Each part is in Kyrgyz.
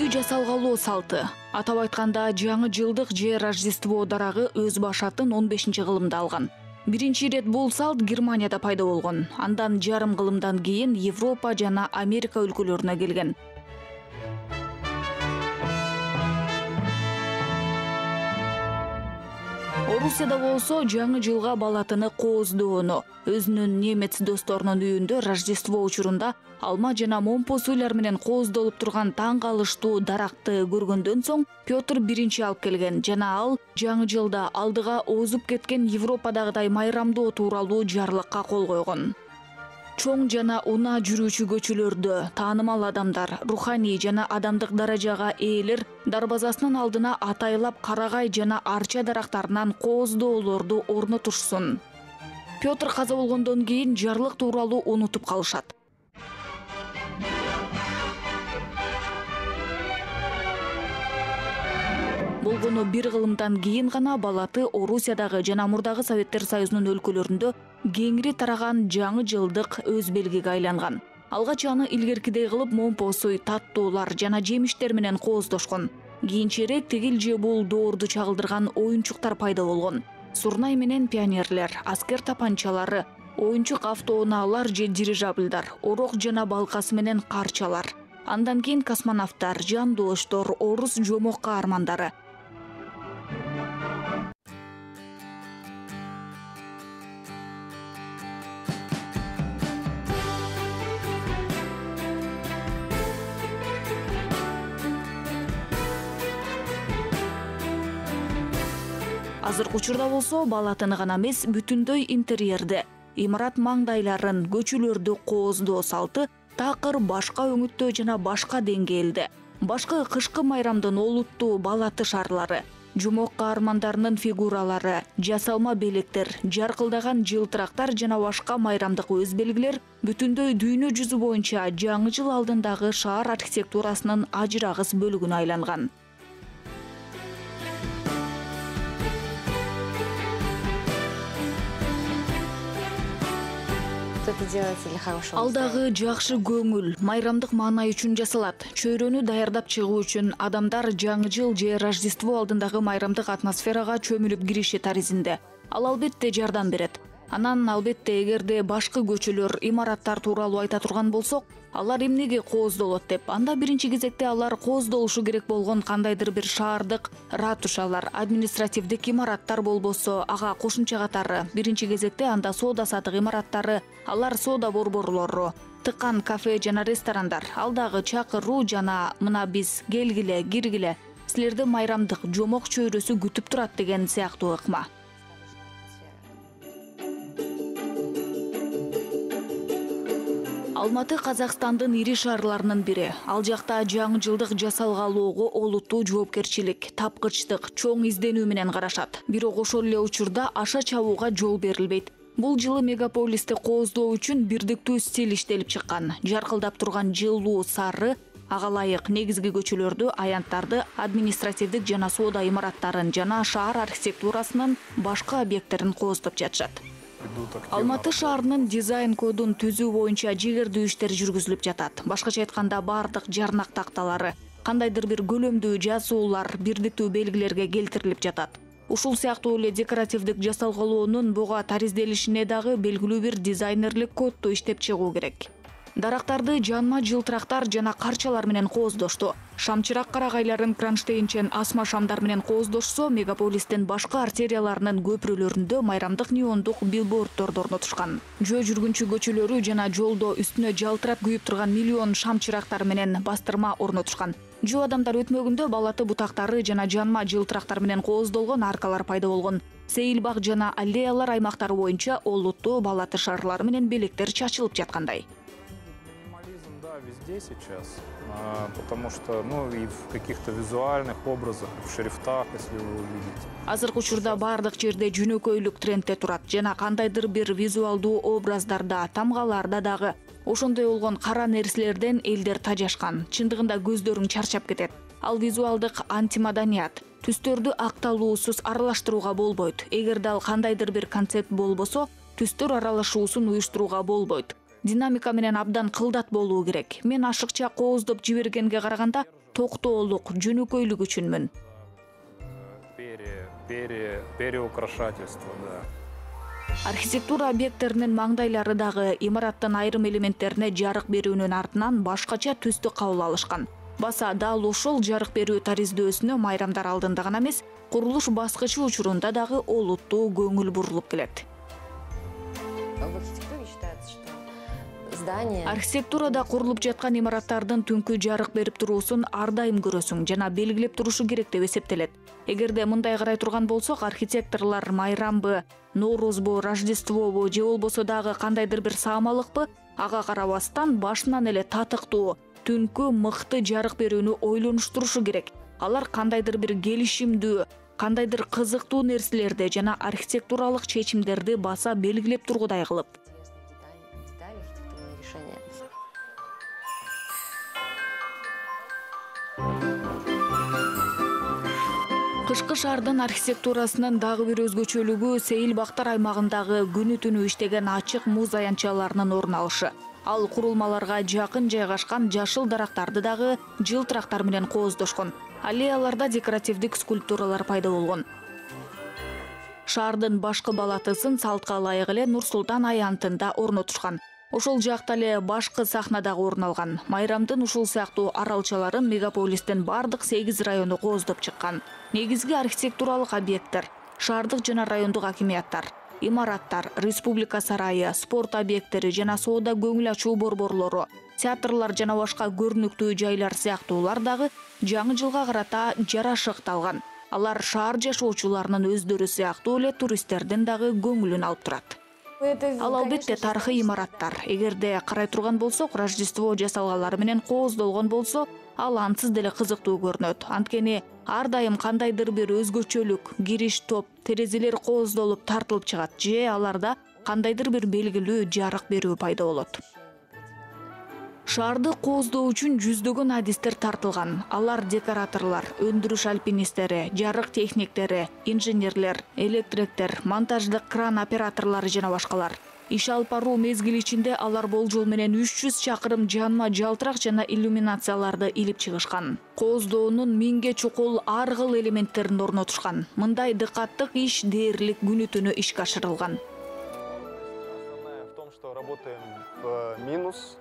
үй жасалгалоо салты. Атап айтканда, жаңы жылдык же Рождество дарагы өз башатын 15-кылымда алган. Биринчи ирет бул салт Германияда пайда болгон. Андан жарым кылымдан кийин Европа жана Америка өлкөлөрүнө келген. Орусияда болсо жаңы жылга балатыны кооздоону, өзүнүн немец досторунун үйүндө Рождество учурунда алма жана момпо суйлар менен кооздолуп турган таң калыштуу даракты көргөндөн соң Петр биринчи алып келген жана ал жаңы жылда алдыга озуп кеткен Европадагыдай майрамдоо тууралуу жарлыкка кол койгон. Чоң жана унаа жүрүүчү көчөлөрдө таанымал адамдар, руханий жана адамдык даражага ээлер дарбазасынын алдына атайлап карагай жана арча дарактарынан кооздоолорду орнотушсун. Петр каза болгондон кийин жарлык тууралуу унутуп калышат. Болгону бир кылымдан кийин гана балаты Орусиядагы жана мурдагы Советтер Союзунун өлкөлөрүндө кеңири тараган жаңы жылдык өз белгиге айланган. Алгач аны илгеркидей кылып момпо суй, таттуулар жана жемиштер менен кооздошкон. Кийинчерээк тигил же бул доорду чагылдырган оюнчуктар пайда болгон. Сурнай менен пионерлер, аскер тапанчалары, оюнчук автоунаалар же дирижабльдар, орок жана балкасы менен карчалар. Андан кийин космонавттар, жандооштор, орус жомок каармандары. Азыркы учурда болсо балатыны гана эмес, бүтүндөй интерьерди, имарат маңдайларын, көчөлөрдү кооздоо салты такыр башка өңүттө жана башка деңгээлде. Башкы кышкы майрамдын олуттуу балаты шарлары, жомок каармандарынын фигуралары, жасалма белектер, жаркылдаган жылтырактар жана башка майрамдык өз белгилер бүтүндөй дүйнө жүзү боюнча жаңы жыл алдындагы шаар архитектурасынын ажырагыс бөлүгүнө айланган. Ал дагы жакшы көңүл, майрамдык маанай үчүн жасалат. Чөйрөнү даярдап чыгуу үчүн адамдар жаңы жыл же Рождество алдындагы майрамдык атмосферага чөмүлүп кириши таризинде. Ал албетте жардам берет. Анан албетте эгерде башкы көчөлөр, имараттар тууралуу айта турган болсок, алар эмнеге кооздолот деп, анда биринчи кезекте алар кооздолушу керек болгон кандайдыр бир шаардык ратушалар, административдик имараттар болбосо, ага кошумча катары биринчи кезекте анда соода сатык имараттары, алар соода борборлору, тыкан кафе жана ресторандар, ал дагы чакыруу жана мына биз келгиле, киргиле, силерди майрамдык жомок чөйрөсү күтүп турат деген сыяктуу ыкма. Алматы Казакстандын ири шаарларынын бири. Ал жакта жаңы жылдык жасалгалоого олуттуу жоопкерчилик, тапкычтык, чоң изденүү менен карашат. Бирок ошол эле учурда аша чабууга жол берилбейт. Бул жылы мегаполисти кооздоо үчүн бирдиктүү стиль иштелип чыккан. Жаркылдап турган жылуу сары, ага ылайык негизги көчөлөрдү, аянттарды, административдик жана соода имараттарын жана шаар архитектурасынын башка объекттерин кооздоп жатышат. Алматы шаарынын дизайн кодун түзүү боюнча жигердүү иштер жүргүзүлүп жатат. Башкача айтканда бардык жарнак такталары, кандайдыр бир көлөмдүү жазуулар бирдиктүү белгилерге келтирилип жатат. Ушул сыяктуу эле декоративдик жасалгалоонун буга таризделишине дагы белгилүү бир дизайнерлик кодду иштеп чыгуу керек. Дарактарды жанма жылтырактар жана карчалар менен кооздошту. Шамчырак карагайларын кронштейнчен асма шамдар менен кооздошсо, мегаполистин башка артерияларынын көпүрөлөрүндө майрамдык неондук билбордторду орнотушкан. Жөө жүргүнчү көчөлөрү жана жолдо үстүнө жалтырап күйүп турган миллион шамчырактар менен бастырма орнотушкан. Жөө адамдар өтмөгүндө балаты бутактары жана жанма жылтырактар менен кооздолгон аркалар пайда болгон. Сейил бак жана аллеялар аймактары боюнча олуттуу балаты шарлары менен белектер чачылып жаткандай. Везде сейчас, потому что, и в каких-то визуальных образах, в шрифтах, если вы увидите. Азыркы учурда бардык жерде жөнөкөйлүк трендте турат жана кандайдыр бир визуалдуу образдарда, тамгаларда дагы ошондой болгон кара нерселерден элдер тажашкан. Чындыгында көздөрүң чарчап кетет. Ал визуалдык антимаданият. Түстөрдү акталуусуз аралаштырууга болбойт. Эгерде ал кандайдыр бир концепт болбосо, түстөр аралашуусун уюштурууга болбойт. Динамика менен абдан кылдат болуу керек. Мен ашыкча кооздоп жибергенге караганда, токтоолук, жөнөкөйлүк үчүнмүн. Переукрашательство, да. Архитектура объекттеринин маңдайлары дагы имараттын айрым элементтерине жарык берүүнүн артынан башкача түстү кабыл алышкан. Баса дал ушул жарык берүү тариздөсүнө майрамдар алдында гана эмес, курулуш баскычы учурунда дагы олуттуу көңүл бурулуп келет. Архитектурада курулуп жаткан имараттардын түнкү жарык берип туруусун ар дайым көрөсүң жана белгилеп турушу керек деп эсептелет. Эгерде мындай карай турган болсок, архитекторлор майрамбы, Ноорузбу, Рождествобу же болбосо дагы кандайдыр бир саамалыкпы, ага карабастан башынан эле татыктуу, түнкү мыкты жарык берүүнү ойлонуштурушу керек. Алар кандайдыр бир келишимдүү, кандайдыр кызыктуу нерселерди жана архитектуралык чечимдерди баса белгилеп тургудай кылып. Кышкы шаардын архитектурасынын дагы бир өзгөчөлүгү Сейил Бактар аймагындагы күнү түнү иштеген ачык муз аянтчаларынын орун алышы. Ал курулмаларга жакын жайгашкан жашыл дарактарды дагы жылтырактар менен кооздошкон. Аллеяларда декоративдик скульптуралар пайда болгон. Шаардын башкы балатысын салтка ылайык эле Нур-Султан аянтында орнотушкан. Ошол жакта эле башкы сахна дагы орун алган. Майрамдын ушул сыяктуу аралчаларын мегаполистин бардык 8 району кооздоп чыккан. Негизги архитектуралык объекттер, шаардык жана райондук акимияттар, имараттар, республика сарайы, спорт объекттери жана соода көңүл ачуу борборлору, театрлар жана башка көрүнүктүү жайлар сыяктуулар дагы жаңы жылга карата жарашыкталган. Алар шаар жашоочуларынын өздөрү сыяктуу эле туристтердин дагы көңүлүн алып турат. Ал албетте тарыхый имараттар. Эгерде карай турган болсок, Рождество жасалгалары менен кооздолгон болсо, ал ансыз деле кызыктуу көрүнөт. Анткени ар дайым кандайдыр бир өзгөчөлүк, кириш топ, терезелер кооздолуп тартылып чыгат же аларда кандайдыр бир белгилүү жарык берүү пайда болот. Шаарды кооздоо үчүн жүздөгөн адистер тартылган. Алар декораторлор, өндүрүш альпинисттери, жарык техниктери, инженерлер, электриктер, монтаждык кран операторлору жана башкалар. Иш алып баруу мезгили ичинде алар болжол менен 300 чакырым жанма жалтырак жана иллюминацияларды илип чыгышкан. Кооздоонун 1000ге чукул ар кыл элементтерин орнотушкан. Мындай дыкаттык иш дээрлик күнү түнү ишке ашырылган. Работаем в минус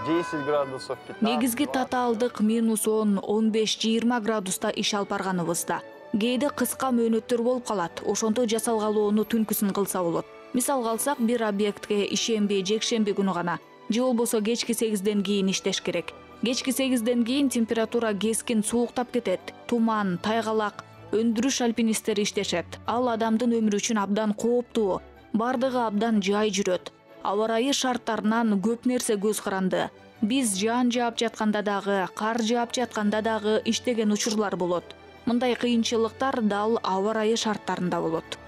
10 градусов, 15. Негизги татаалдык -10, 15, 20 градуста иш алып барганыбызда. Кээде кыска мөөнөттөр болуп калат. Ошондо жасалгалоону түнкүсүн кылса болот. Мисалга алсак, бир объектке ишемби, жекшемби күнү гана, же болбосо кечки 8ден кийин иштеш керек. Кечки 8ден кийин температура кескин сууктап кетет. Туман, тайгалак, өндүрүш альпинисттери иштешет. Ал адамдын өмүрү үчүн абдан кооптуу. Бардыгы абдан жай жүрөт. Аба ырайы шарттарынан көп нерсе көз каранды. Биз жаан жаап жатканда дагы, кар жаап жатканда дагы иштеген учурлар болот. Мындай кыйынчылыктар дал аба ырайы шарттарында болот.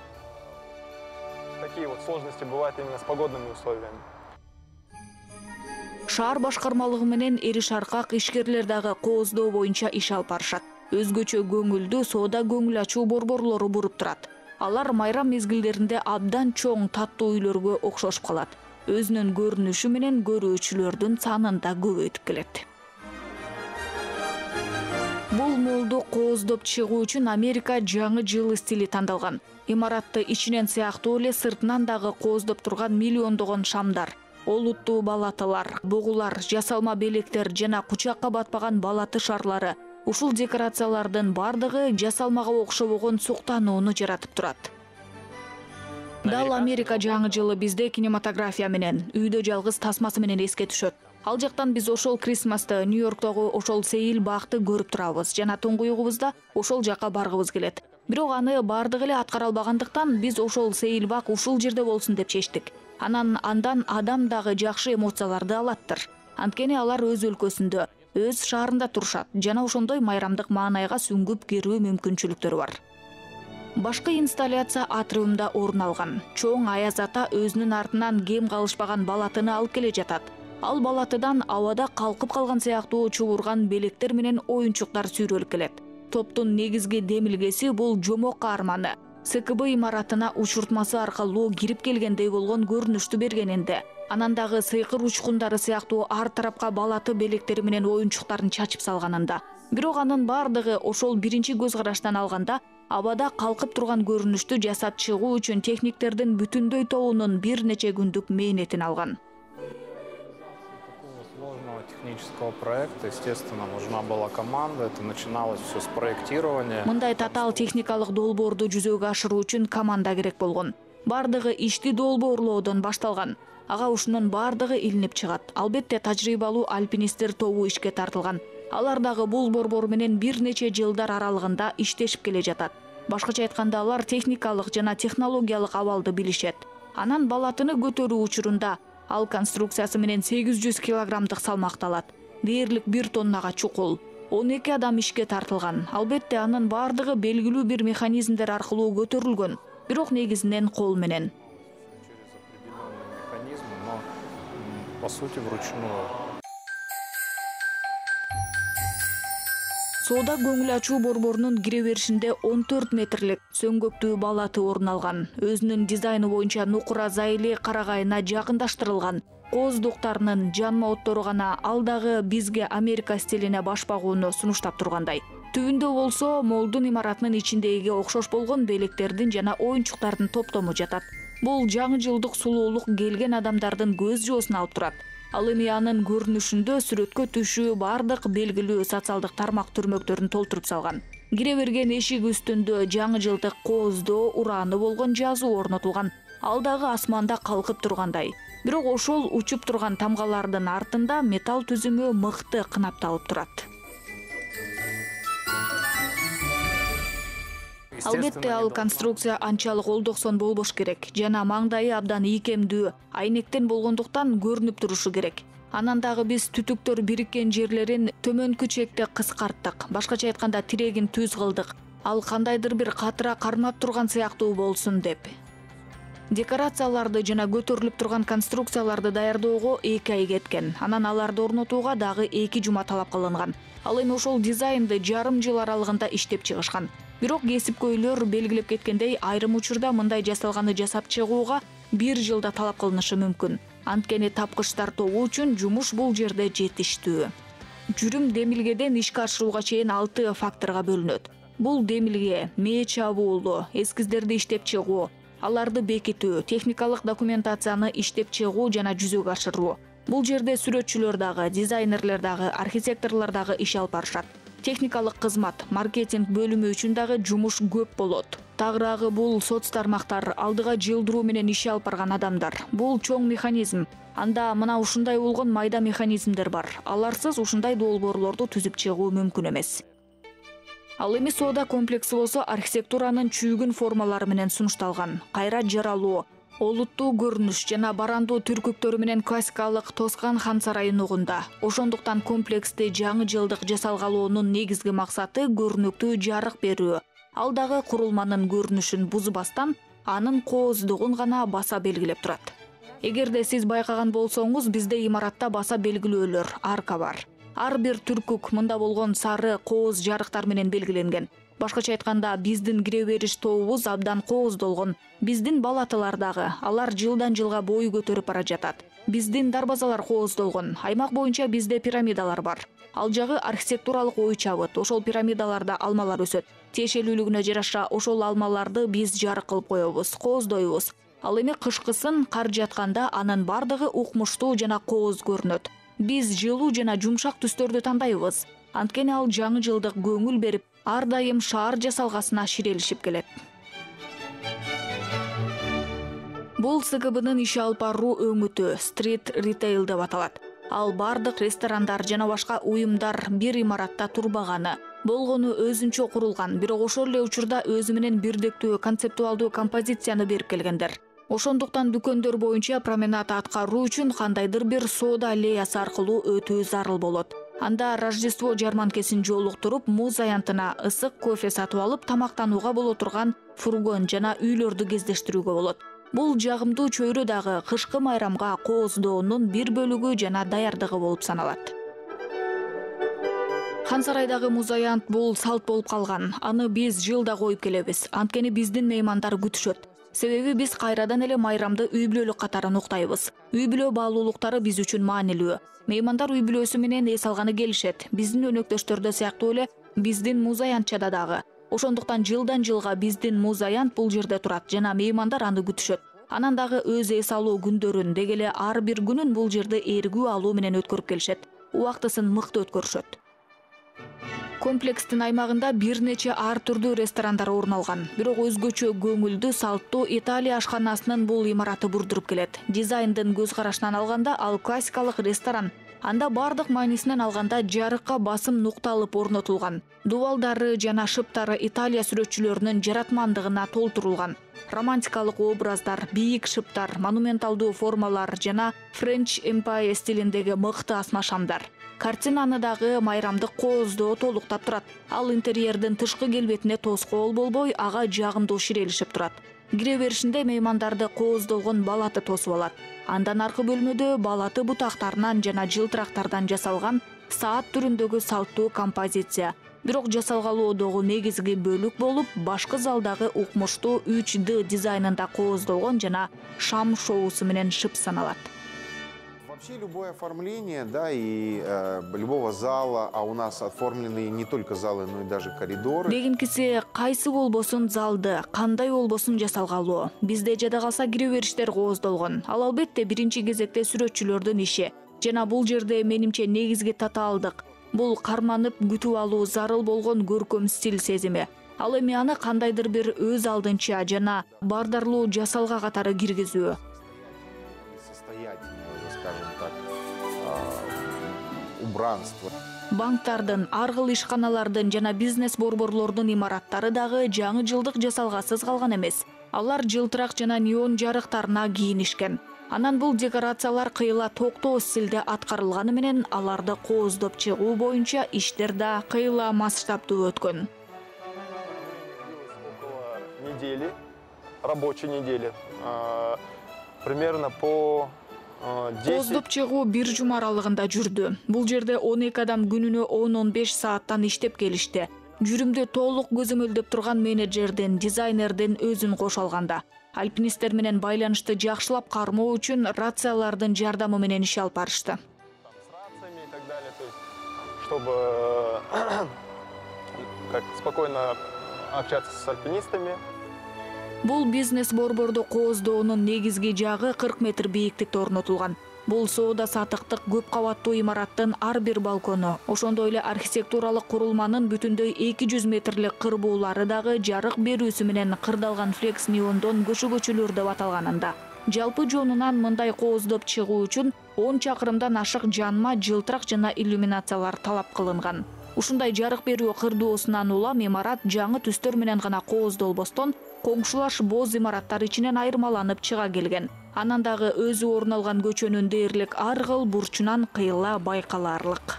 Такие вот сложности бывают именно с погодными условиями. Шаар башкармалыгы менен эри шаркак ишкерлер дагы кооздоо боюнча иш алып барышат. Өзгөчө көңүлдүү соода көңүл ачуу борборлору буруп турат. Алар майрам мезгилдеринде абдан чоң таттуу үйлөргө окшошуп калат. Өзүнүн көрүнүшү менен көрүүчүлөрдүн санын да көбөйтүп келет. Бул молду кооздоп чыгуу үчүн Америка жаңы жыл стили тандалган. Имаратты ичинен сыяктуу эле сыртынан дагы кооздоп турган миллиондогон шамдар, олуттуу балатылар, бугулар, жасалма белектер жана кучакка батпаган балаты шарлары. Ушул декорациялардын бардыгы жасалмага окшобогон суктанууну жаратып турат. Дал Америка жаңы жылы бизде кинематография менен, үйдө жалгыз тасмасы менен эске түшөт. Ал жактан биз ошол Крисмасты, Нью-Йорктогу ошол Сейил Бакты көрүп турабыз жана туңгуюгубузда ошол жака баргыбыз келет. Бирок аны бардыгы эле аткара албагандыктан биз ошол Сейил Бак ушул жерде болсун деп чечтик. Андан адам дагы жакшы эмоцияларды алаттыр. Анткени алар өз өлкөсүндө, өз шаарында турушат жана ошондой майрамдык маанайга сүңгүп кирүү мүмкүнчүлүктөрү бар. Башкы инсталляция атриумда орун алган. Чоң Аяз ата өзүнүн артынан кем калышпаган балатыны алып келе жатат. Ал балатыдан абада калкып калган сыяктуу чубурган белектер менен оюнчуктар сүйрөлүп келет. Топтун негизги демилгеси бул жомок каарманы. СКБ имаратына учуртмасы аркылуу кирип келгендей болгон көрүнүштү бергенинде, Анан дагы сыйкыр учкундары сыяктуу ар тарапка балаты белектери менен оюнчуктарын чачып салганында. Бирок анын бардыгы ошол биринчи көз караштан алганда абада калкып турган көрүнүштү жасап чыгуу үчүн техниктердин бүтүндөй тобунун бир нече күндүк мээнетин алган. Сложного технического проекта, естественно, нужна была команда. Это начиналось все с проектирования. Мындай татаал техникалык долбоорду жүзөгө ашыруу үчүн команда керек болгон. Бардыгы ишти долбоорлоодон башталган. Ага ушунун бардыгы илинип чыгат. Албетте тажрыйбалуу альпинисттер тобу ишке тартылган. Алар дагы бул борбор менен бир нече жылдар аралыгында иштешип келе жатат. Башкача айтканда алар техникалык жана технологиялык абалды билишет. Анан балатыны көтөрүү учурунда ал конструкциясы менен 800 килограммдык салмакты алат. Дээрлик 1 тоннага чукул. 12 адам ишке тартылган. Албетте анын бардыгы белгилүү бир механизмдер аркылуу көтөрүлгөн. Бирок негизинен кол менен. Через определенные механизмы, но по сути вручную. Соода көңүл ачуу борборунун кире беришинде 14 метрлик сөңгөктүү балаты орун алган. Өзүнүн дизайны боюнча Нукура Зайли карагайына жакындаштырылган. Кооздуктарынын жанма оттору гана ал дагы бизге Америка стилине баш багууну сунуштап тургандай. Түбүндө болсо молдун имаратынын ичиндеги окшош болгон белектердин жана оюнчуктардын топтому жатат. Бул жаңы жылдык сулуулук келген адамдардын көз жоосун алып турат. Ал эми анын көрүнүшүндө сүрөткө түшүү бардык белгилүү социалдык тармак түрмөктөрүн толтуруп салган. Кире берген эшик үстүндө жаңы жылдык кооздоо урааны болгон жазуу орнотулган. Ал дагы асманда калкып тургандай. Бирок ошол учуп турган тамгалардын артында металл түзүмү мыкты кынапталып турат. Албетте ал конструкция анчалык олдоксон болбош керек жана маңдайы абдан ийкемдүү, айнектен болгондуктан көрүнүп турушу керек. Анан дагы биз түтүктөр бириккен жерлерин төмөнкү чекте кыскарттык. Башкача айтканда тирегин түз кылдык. Ал кандайдыр бир катыра кармап турган сыяктуу болсун деп. Декорацияларды жана көтөрүлүп турган конструкцияларды даярдоого 2 ай кеткен. Анан аларды орнотууга дагы 2 жума талап кылынган. Ал эми ошол дизайнды жарым жыл аралыгында иштеп чыгышкан. Бирок кесипкөйлөр белгилеп кеткендей, айрым учурда мындай жасалганы жасап чыгууга 1 жылда талап кылынышы мүмкүн. Анткени тапкычтар тобу үчүн жумуш бул жерде жетиштүү. Жүрүм демилгеден ишке ашырууга чейин 6 факторго бөлүнөт. Бул демилге, мээ чабуулу, эскиздерди иштеп чыгуу, аларды бекитүү, техникалык документацияны иштеп чыгуу жана жүзөгө ашыруу. Бул жерде сүрөтчүлөр дагы, дизайнерлер дагы, архитекторлор дагы иш алып барышат. Техникалык кызмат, маркетинг бөлүмү үчүн дагы жумуш көп болот. Тагыраагы бул соц тармактар, алдыга жылдыруу менен иш алып барган адамдар. Бул чоң механизм. Анда мына ушундай болгон майда механизмдер бар. Аларсыз ушундай долбоорлорду түзүп чыгуу мүмкүн эмес. Ал эми соода комплекси болсо архитектуранын чүйгүн формалары менен сунушталган. Кайра жаралуу, олуттуу көрүнүш жана барандуу түркүктөрү менен классикалык Тоскан хан сарайын угунда. Ошондуктан комплексти жаңы жылдык жасалгалоонун негизги максаты көрүнүктүү жарык берүү. Ал дагы курулманын көрүнүшүн бузбастан, анын кооздугун гана баса белгилеп турат. Эгерде сиз байкаган болсоңуз, бизде имаратта баса белгилөөлөр, арка бар. Ар бир түркүк мында болгон сары кооз жарыктар менен белгиленген. Башкача айтканда, биздин кире бериш тобубуз абдан кооздолгон. Биздин балатылар дагы, алар жылдан жылга бой көтөрүп бара жатат. Биздин дарбазалар кооздолгон. Аймак боюнча бизде пирамидалар бар. Ал жагы архитектуралык ой чабыт. Ошол пирамидаларда алмалар өсөт. Тиешелүүлүгүнө жараша ошол алмаларды биз жарык кылып коебуз, кооздойбуз. Ал эми кышкысын кар жатканда анын бардыгы укмуштуу жана кооз көрүнөт. Биз жылуу жана жумшак түстөрдү тандайбыз. Анткени ал жаңы жылдык көңүл берип, ар дайым шаар жасалгасына ширелишип келет. Бул СКБнын иш алып баруу өңүтү стрит ритейл деп аталат. Ал бардык ресторандар жана башка уюмдар бир имаратта турбаганы, болгону өзүнчө курулган, бирок ошол эле учурда өзү менен бирдиктүү концептуалдуу композицияны берип келгендер. Ошондуктан дүкөндөр боюнча променад аткаруу үчүн кандайдыр бир соода аллеясы аркылуу өтүү зарыл болот. Анда Рождество жарманкесин жолуктуруп, муз аянтына ысык кофе сатып алып, тамактанууга боло турган фургон жана үйлөрдү кездештирүүгө болот. Бул жагымдуу чөйрө дагы кышкы майрамга кооздоонун бир бөлүгү жана даярдыгы болуп саналат. Хан сарайдагы муз аянт бул салт болуп калган. Аны биз жылда коюп келебиз. Анткени биздин меймандар күтүшөт. Себеби биз кайрадан эле майрамды үй бүлөлүк катары уктайбыз. Үй бүлө баалуулуктары биз үчүн маанилүү. Меймандар үй бүлөсү менен эс алганы келишет. Биздин өнөктөштөрдө сыяктуу эле биздин муз аянтчада дагы. Ошондуктан жылдан жылга биздин муз аянт бул жерде турат жана меймандар аны күтүшөт. Анан дагы өз эс алуу күндөрүн, деги эле ар бир күнүн бул жерде эргүү алуу менен өткөрүп келишет. Убактысын мыкты өткөрүшөт. Комплекстин аймагында бир нече ар түрдүү ресторандар орун алган. Бирок өзгөчө көңүлдүү, салттуу Италия ашканасынын бул имараты бурдуруп келет. Дизайндын көз карашынан алганда ал классикалык ресторан. Анда бардык маанисинен алганда жарыкка басым нукталып орнотулган. Дубалдары жана шыптары Италия сүрөтчүлөрүнүн жаратмандыгына толтурулган. Романтикалык образдар, бийик шыптар, монументалдуу формалар жана French Empire стилиндеги мыкты асма шамдар. Картинаны дагы майрамдык кооздоо толуктап турат. Ал интерьердин тышкы келбетине тоскоол болбой, ага жагымдуу ширелишип турат. Кире беришинде меймандарды кооздолгон балаты тосуп алат. Андан аркы бөлмөдө балаты бутактарынан жана жылтырактардан жасалган саат түрүндөгү салттуу композиция. Бирок жасалгалоодогу негизги бөлүк болуп, башкы залдагы укмуштуу 3D дизайнында кооздолгон жана шам шоусу менен шып саналат. Вообще любое оформление, да, и любого зала, а у нас оформлены не только залы, но и даже коридоры. Дегенкиси кайсы болбосун залды, кандай болбосун жасалгалоо. Бизде жада калса кире бериштер кооздолгон. Ал албетте биринчи кезекте сүрөтчүлөрдүн иши. Жана бул жерде менимче негизги татаалдык. Бул карманып күтүп алуу зарыл болгон көркөм стиль сезими. Ал эми аны кандайдыр бир өз алдынча жана бардарлуу жасалга катары киргизүү. Убранство. Банктардын, ар кыл ишканалардын жана бизнес борборлордун имараттары дагы жаңы жылдык жасалгасыз калган эмес. Алар жылтырак жана неон жарыктарына кийинишкен. Анан бул декорациялар кыйла токтоо стилде аткарылганы менен аларды кооздоп чыгуу боюнча иштер да кыйла масштабтуу өткөн. Около недели, рабочей недели, примерно по 10. Кооздоп чыгуу бир жума аралыгында жүрдү. Бул жерде 12 адам күнүнө 10-15 сааттан иштеп келишти. Жүрүмдү толук көзөмөлдөп турган менеджердин, дизайнердин өзүн кошо алганда. Альпинисттер менен байланышты жакшылап кармоо үчүн рациялардын жардамы менен иш алып барышты. С рациями и так далее, то есть, чтобы как спокойно общаться с альпинистами. Бул бизнес борборду кооздоонун негизги жагы 40 метр бийиктикте орнотулган. Бул соода сатыктык көп кабаттуу имараттын ар бир балкону, ошондой эле архитектуралык курулманын бүтүндөй 200 метрлик кырбуулары дагы жарык берүүсү менен кырдалган флекс неондон көчөгөчүлөр деп аталганында. Жалпы жонунан мындай кооздоп чыгуу үчүн 10 чакырымдан ашык жанма, жылтырак жана иллюминациялар талап кылынган. Ушундай жарык берүү кырдоосунан улам имарат жаңы түстөр менен гана кооздолбостон, коңшулаш боз имараттар ичинен айырмаланып чыга келген. Анан дагы өзү орун алган көчөнүн дээрлик ар кыл бурчунан кыйла байкалаарлык.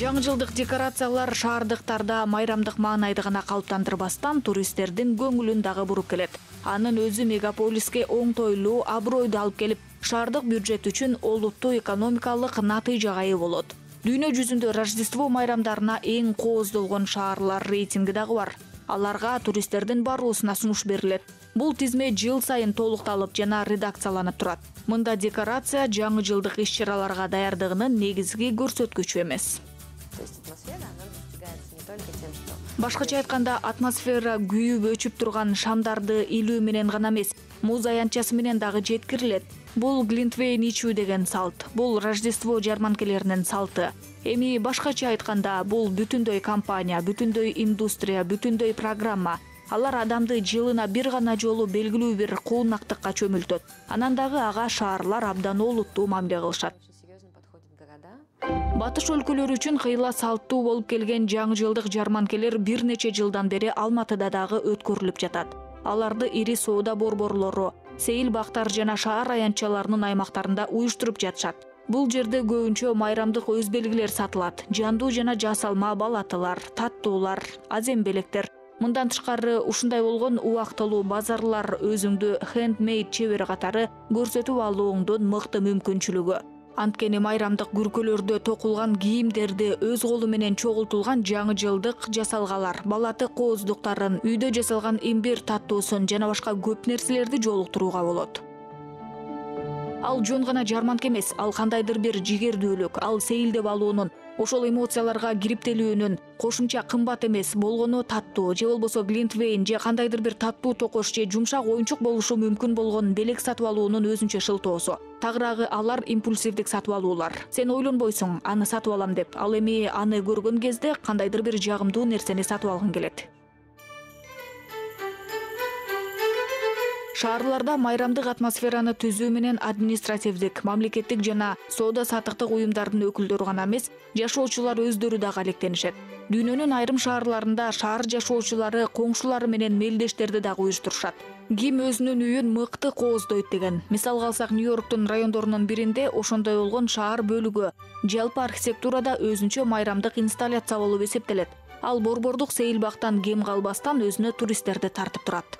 Жаңы жылдык декорациялар шаардыктарда майрамдык маанайды гана калыптандырбастан туристтердин көңүлүн дагы буруп келет. Анын өзү мегаполиске оңтойлуу, абройду алып келип, шаардык бюджет үчүн олуттуу экономикалык натыйжага ээ болот. Дүйнө жүзүндө Рождество майрамдарына эң кооздолгон шаарлар рейтинги дагы бар. Аларга туристтердин баруусуна сунуш берилет. Бул тизме жыл сайын толукталып жана редакцияланып турат. Мында декорация жаңы жылдык иш-чараларга даярдыгынын негизги көрсөткүчү эмес. Башкача айтканда, атмосфера күйүп өчүп турган шамдарды илүү менен гана эмес, муз аянтчасы менен дагы жеткирилет. Бул глинтвейн ичүү деген салт. Бул Рождество жарманкелеринин салты. Эми башкача айтканда, бул бүтүндөй компания, бүтүндөй индустрия, бүтүндөй программа. Алар адамды жылына бир гана жолу белгилүү бир куунактыкка чөмүлтөт. Анан дагы ага шаарлар абдан олуттуу мамиле кылышат. Батыш өлкөлөрү үчүн кыйла салттуу болуп келген жаңы жылдык жарманкелер бир нече жылдан бери Алматыда дагы өткөрүлүп жатат. Аларды ири соода борборлору, сейил бактар жана шаар аянтчаларынын аймактарында уюштуруп жатышат. Бул жерде көбүнчө майрамдык өз белгилер сатылат. Жандуу жана жасалма балатылар, таттуулар, азембелектер. Мындан тышкары ушундай болгон убактылуу базарлар өзүңдү хендмейд чебер катары көрсөтүп алууңдун мыкты мүмкүнчүлүгү. Анткени майрамдык күркөлөрдө токулган кийимдерди, өз колу менен чогултулган жаңы жылдык жасалгалар, балаты кооздуктарын, үйдө жасалган имбир таттуусун жана башка көп нерселерди жолуктурууга болот. Ал жөн гана жарманка эмес, ал кандайдыр бир жигердүүлүк, ал сейилдеп алуунун, ошол эмоцияларга кириптелүүнүн, кошумча кымбат эмес, болгону таттуу, же болбосо глинтвейн, же кандайдыр бир таттуу токош, же жумшак оюнчук болушу мүмкүн болгон белек сатып алуунун өзүнчө шылтоосу. Тагыраагы алар импульсивдик сатып алуулар. Сен ойлонбойсуң, аны сатып алам деп, ал эми аны көргөн кезде кандайдыр бир жагымдуу нерсени сатып алгың келет. Шаарларда майрамдык атмосфераны түзүү менен административдик, мамлекеттик жана соода саттыктык уюмдардын өкүлдөрү гана эмес, жашоочулар өздөрү дагы алектенишет. Дүйнөнүн айрым шаарларында шаар жашоочулары коңшулары менен мелдештерди дагы уюштурушат. Ким өзүнүн үйүн мыкты кооздойт деген. Мисалга алсак, Нью-Йорктун райондорунун биринде ошондой болгон шаар бөлүгү жалпы архитектурада өзүнчө майрамдык инсталляция болуп эсептелет. Ал борбордук сейилбактан кем калбастан өзүнө туристтерди тартып турат.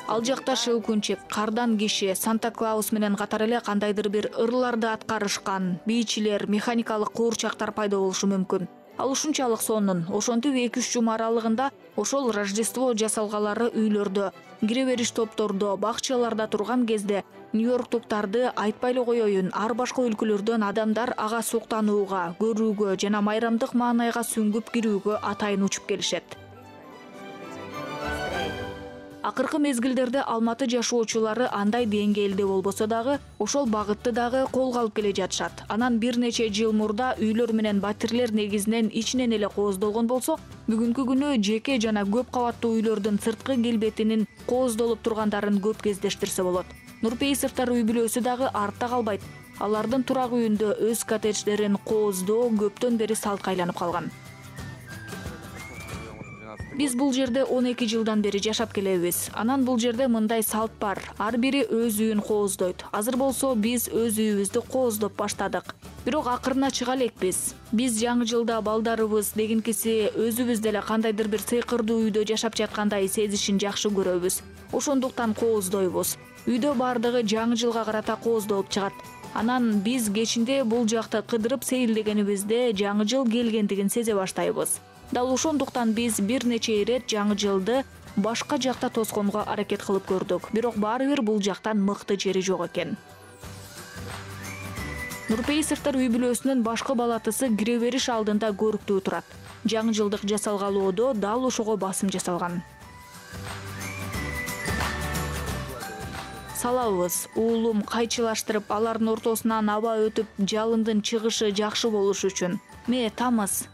Ал жакта Щелкунчик, Кардан киши, Санта-Клаус менен катар эле кандайдыр бир ырларды аткарышкан бийчилер, механикалык куурчактар пайда болушу мүмкүн. Ал ушунчалык сонун, ошентип 2-3 жума аралыгында ошол Рождество жасалгалары үйлөрдө, кире бериш топтордо, бакчаларда турган кезде Нью-Йорктуктарды айтпай эле коеюн, ар башка өлкөлөрдөн адамдар ага суктанууга, көрүүгө жана майрамдык маанайга сүңгүп кирүүгө атайын учуп келишет. Акыркы мезгилдерде Алматы жашоочулары андай деңгээлде болбосо дагы, ошол багытты дагы колго алып келе жатышат. Анан бир нече жыл мурда үйлөр менен батирлер негизинен ичинен эле кооздолгон болсо, бүгүнкү күнү жеке жана көп кабаттуу үйлөрдүн сырткы келбетинин кооздолуп тургандарын көп кездештирсе болот. Нурпейисовдор үй бүлөсү дагы артта калбайт. Алардын турак үйүндө өз коттедждерин кооздоо көптөн бери салтка айланып калган. Биз бул жерде 12 жылдан бери жашап келебиз. Анан бул жерде мындай салт бар. Ар бири өз үйүн кооздойт. Азыр болсо биз өз үйүбүздү кооздоп баштадык. Бирок акырына чыга элекпиз. Биз жаңы жылда балдарыбыз дегенкиси өзүбүз деле кандайдыр бир сыйкырдуу үйдө жашап жаткандай сезишин жакшы көрөбүз. Ошондуктан кооздойбуз. Үйдө бардыгы жаңы жылга карата кооздолуп чыгат. Анан биз кечинде бул жакты кыдырып сейилдегенибизде жаңы жыл келгендигин сезе баштайбыз. Дал ошондуктан биз бир нече ирет жаңы жылды башка жакта тосконго аракет кылып көрдүк. Бирок баары бир бул жактан мыкты жери жок экен. Нурпейисовдор үй бүлөсүнүн башкы балатысы кире бериш алдында көрүктүү турат. Жаңы жылдык жасалгалоодо дал ошого басым жасалган. Салабыз, уулум кайчылаштырып, алардын ортосунан аба өтүп, жалындын чыгышы жакшы болуш үчүн. Ме тамыз.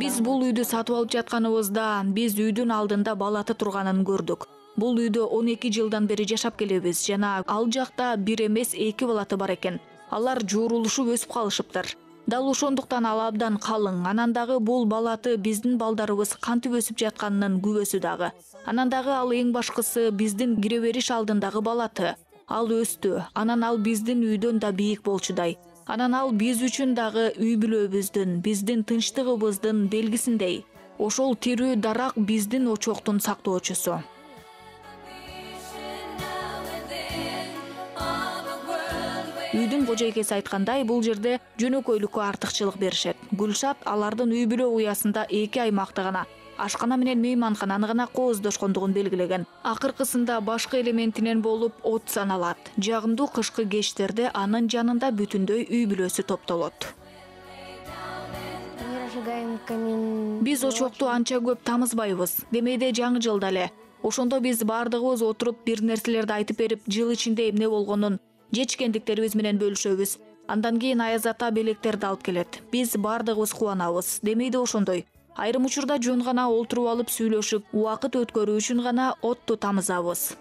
Биз бул үйдү сатып алып жатканыбызда, биз үйдүн алдында балаты турганын көрдүк. Бул үйдө 12 жылдан бери жашап келебиз жана ал жакта бир эмес 2 балаты бар экен. Алар жуурулушуп өсүп калышыптыр. Дал ошондуктан ал абдан калың. Анан дагы бул балаты биздин балдарыбыз кантип өсүп жатканынын күбөсү дагы. Анан дагы ал эң башкысы биздин кире бериш алдындагы балаты. Ал өстү. Анан ал биздин үйдөн да бийик болчудай. Анан ал биз үчүн дагы үй бүлөбүздүн, биздин тынчтыгыбыздын белгисиндей. Ошол тирүү дарак биздин очоктун сактоочусу. Үйдүн кожойкеси айткандай, бул жерде жөнөкөйлүккө артыкчылык беришет. Гүлшат алардын үй бүлө уясында 2 аймакты гана, ашкана менен мейманкананы гана кооздошкондугун белгилеген. Акыркысында башкы элементинен болуп от саналат. Жагымдуу кышкы кечтерде анын жанында бүтүндөй үй бүлөсү топтолот. Биз очокту анча көп тамызбайбыз. Демейде жаңы жылда эле. Ошондо биз бардыгыбыз отуруп бир нерселерди айтып берип, жыл ичинде эмне болгонун, жечкендиктерибиз менен бөлүшөбүз. Андан кийин Аяз ата белектерди алып келет. Биз бардыгыбыз кубанабыз. Демейде ошондой. Айрым учурда жөн гана олтуруп алып сүйлөшүп, убакыт өткөрүү үчүн гана отту тамызабыз.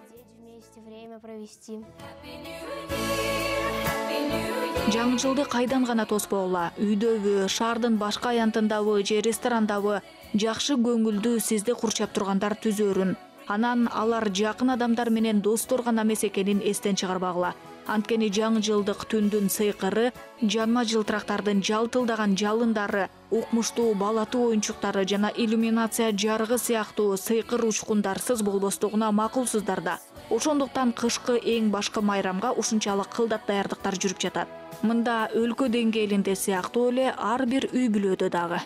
Жаңы жылды кайдан гана тоспогула, үйдөбү, шаардын башка аянтындабы же ресторандабы жакшы көңүлдүү сизди курчап тургандар түзөрүн. Анан алар жакын адамдар менен достор гана эмес экенин эстен чыгарбагыла. Анткени жаңы жылдык түндүн сыйкыры, жанма жылтырактардын жалтылдаган жалындары, укмуштуу балатуу оюнчуктары жана иллюминация жарыгы сыяктуу сыйкыр учкундарсыз болбостугуна макулсуздар да. Ошондуктан кышкы эң башкы майрамга ушунчалык кылдат даярдыктар жүрүп жатат. Мында өлкө деңгээлинде сыяктуу эле ар бир үй бүлөдө дагы.